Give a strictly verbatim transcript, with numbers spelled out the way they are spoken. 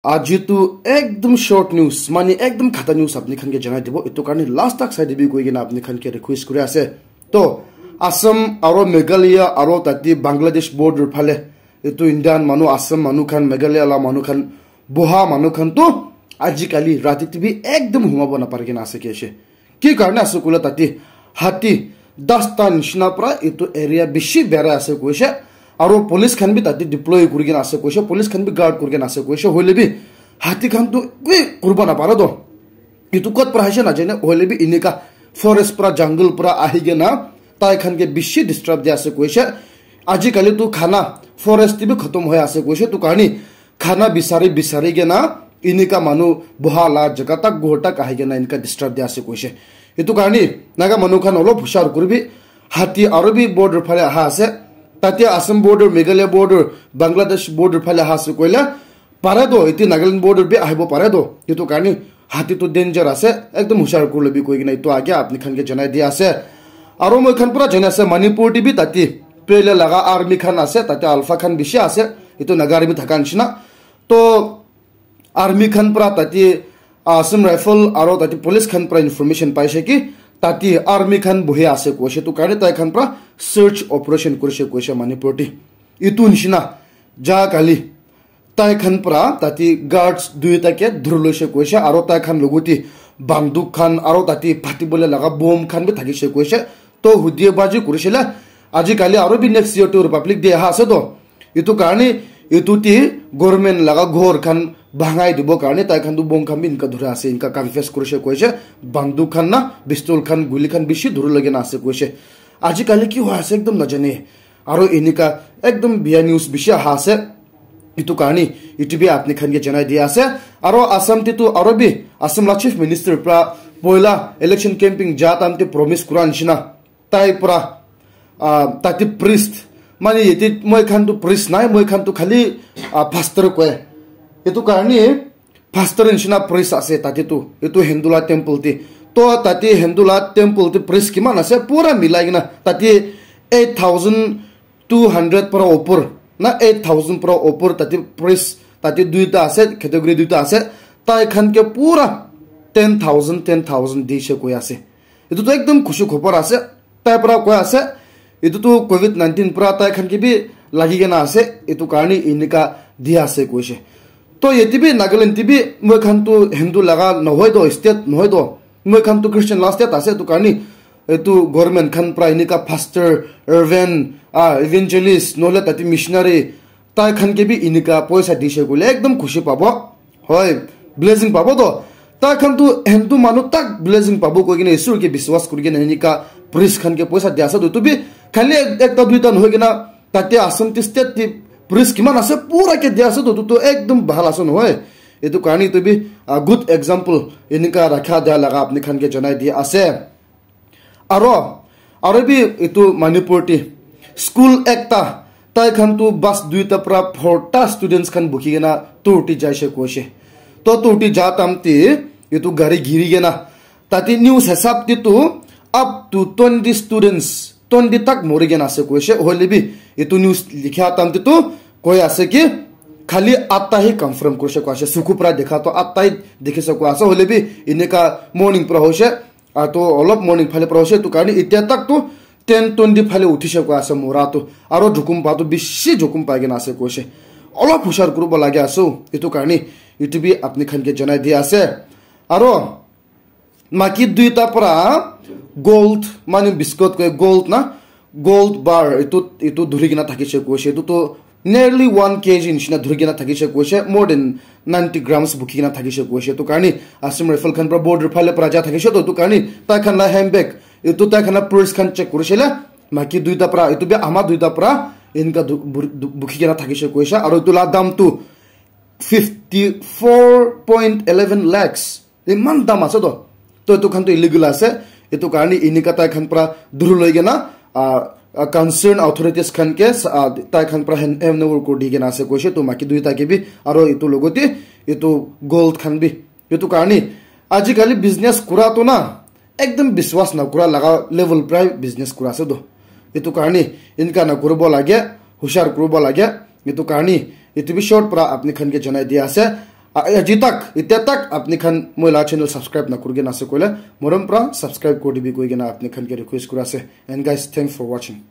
Aji tu ekdum short news, mane ekdum khata news apni khan ke janai dibo. Etu karne last tak sai dibi koi kena apni khan ke request kuri ase. To, Assam aro Meghalaya aro tate Bangladesh border phale, etu Indian manu, Assam manu khan, Meghalaya la manu khan, boha manu khan to ajikali rati te bi ekdum humabo napari kena ase ke ase. Ki karne ase koile tate hati dasta nishina pra etu area bishi berai ase koise. Aro police khan bi tate deploy kuri kena ase koise, police khan bi guard kuri kena ase koise. Hoile bi hati khan to ekoi kuribo napare to. Etu kot pra aise najane, hoile bi enika forest pra, jungle pra ahi kena tai khan ke bishi disturb di ase koise. Ajikali tu khana forest te bi khatam hoi ase koise, tu karne khana bisari bisari kena enika manu boha la jaga tak, ghor tak ahi kena enika disturb di ase koise. Etu karne Naga manu khan olop hushar kuribi, hati aro bi border phale aha ase, tate Assam border, Meghalaya border, Bangladesh border phale aha ase koile, pare to, iti Nagaland border bi ahibo pare to. Etu karne hati to danger ase, ekdum hushar kuri lobi koi kena etu age apni khan ke janai di ase. Aro moi khan pura jane ase, Manipur te bi tate pele laga army khan ase, tate alpha khan bishi ase, etu Naga army thaka nishina. To army khan pura tate Assam Rifle aro tate police khan pura information paise ki tate army khan bohi ase koise, tu karne tai khan pura search operation kurise koise Manipur te. Etu nishina ja kali tai khan pra tate guards duita ke dhuri loise koise, aro tai khan logote banduk khan aro tate phati bole laga bomb khan bi thakise koise. To hudie baji kurisile, ajikali aro bi next year to Republic Day aha ase to. Etu karne etu te government laga ghor khan bhangai dibo karne tai khan tu bomb khan bi enika dhura ase, enika confess kurise koise. Banduk khan na pistol khan, guli khan bishi dhuri lage na ase koise. Ajikali ki hoi ase ekdum najane. Aro enika ekdum biya news bishi aha ase. Etu karne etu bi apni khan ke janai di ase. Aro Assam te tu aro bi Assam la chief minister pra poila election campaign ja time te promise kura nishina tai pra, ah, tate priest, mane yate moi khan tu priest nai, moi khan tu khali, ah, pastor koi. Etu karne pastor nishina priest ase tate tu, etu Hindu la temple te. To tate Hindu la temple te priest kiman ase, pura milai kena tate eight thousand two hundred pra opor na eight thousand pra opor tate priest tate duita ase, category duita ase. Tai khan ke pura ten thousand, ten thousand dise koi ase. Etu tu ekdum khushi khobor ase. Tai pra koi ase, etu tu covid nineteen pra tai khan ke bi lagi kena ase, etu karne enika di ase koise. To yate bi Nagaland te bi moi khan tu Hindu laga nohoi to, state nohoi to, moi khan tu Christian la state ase, etu karne etu government khan pra enika pastor, reverend, ah, evangelist, nohole tate missionary, tai khan ke bi enika poisa dise koile ekdum khushi pabo. Hoi, blessing pabo to. Tai khan tu Hindu manu tak blessing pabo koi kena Isor ke biswas kuri kena enika priest khan ke poisa dia ase to. Tu bi khali ek-, ekta duita nohoi kena tate Assam te state te priest kiman ase pura ke dia ase to. Tu, tu ekdum bhal ase nohoi. Etu karne tu bi, ah, good example enika rakha dia laga apni khan ke janai di ase. Aro, aro bi etu Manipur te school ekta, tai khan tu bus duita pra phorta students khan bukhi kena tour te jaise koise. To tour te ja time te etu gari giri kena, tate news hisab te tu up to twenty students, twenty tak mori kena ase koise. Hoile bi etu news likha time te tu koi ase ki khali atta hi confirm koise koi ase. Suku pra dekha to atta hi dikhise koi ase. Hoile bi enika morning pra hoise. Aru to olop morning phale pra hoise, etu karne itya tak to ten twenty phale uthise koi ase mora to. Aru jokhom pa to bishi jokhom pai kena ase koise. Olop hushar kuribo lage ase, etu karne etu bi apni khan ke janai di ase. Aru maki duita pra gold, mane biscuit koi gold na, gold bar etu, etu dhuri kena thakise koise. Etu to nearly one K G nishina dhuri kena thakise koise, more than ninety grams bukhi kena thakise koise. Etu karne Assam Rifle khan pra border phale pra ja thakise to, etu karne tai khan la handbag, etu tai khan la purse khan check kurise le, maki duita pra, etu bi ama duita pra, enka du-, bur-, du-, bukhi kena thakise koise. Aru etu la dam tu fifty four point eleven lakhs. Iman dam ase to. To etu khan to illegal ase. Etu karne enika tai khan pra dhuri loi kena, ah, ah, concern authorities khan ke, ah, tai khan pra hand, hand over kuri di kena ase koise. To maki duita ke bi, aro etu logote etu gold khan bi. Etu karne ajikali business kura to na, ekdum biswas na kura laga level pra business kura ase to. Etu karne enika na kuribo lage, hushar kuribo lage. Etu karne etu bi short pra apni khan ke janai di ase. Aji tak, itya tak apni khan moi la channel subscribe na kurigena ase koile, morom pra subscribe kuri dibi koigena apni khan ke request kuri ase. And guys, thanks for watching.